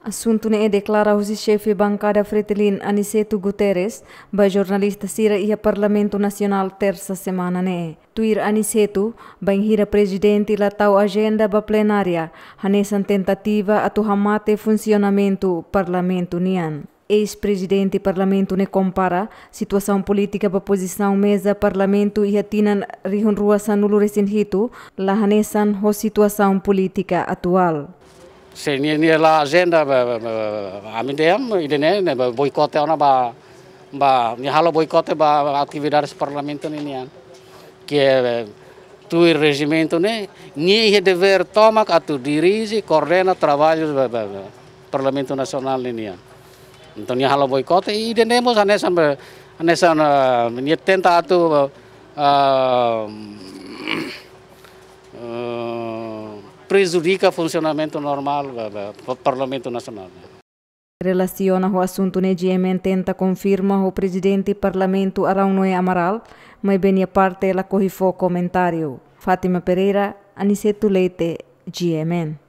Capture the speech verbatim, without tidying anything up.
Asuntu ne'e deklara husi xefe bankada Fretilin, Aniceto Guterres, ba jornalista sira iha Parlamentu Nasionál Tersa semana ne'e. Tuir Aniceto, bainhira prezidente la tau ajenda ba plenária, hanesan tentativa atu hamate funsionamentu Parlamentu nian. Eis-prezidente Parlamentu ne'e kompara situasaun polítika ba pozisaun meza Parlamentu iha tinan rihun rua sanulu resin hitu la hanesan ho situasaun polítika atuál. Se nia, nia la ajenda ba, ba, ba, ba, ami dehan, ida-ne'e, ne'e ba boikote ona ba, ba, nia halo boikote ba atividades Parlamentu ninian. Ke, eh, tuir rejimentu ne'e, nia iha devér tomak atu dirije, koordena traballu ba, ba, ba, Parlamentu Nasionál ninian. Entaun nia halo boikote, ida-ne'e mós hanesan ba, hanesan, ah, nia tenta atu, ah, eh, prejudika funsionamentu normál ba, ba, pa-, Parlamentu Nasionál. Relasiona ho asuntu ne'e, G M N tenta konfirma ho prezidente Parlamentu Araun Noé Amaral, maibé nia parte lakohi fó komentáriu. Fátima Pereira, Aniceto Leite, G M N.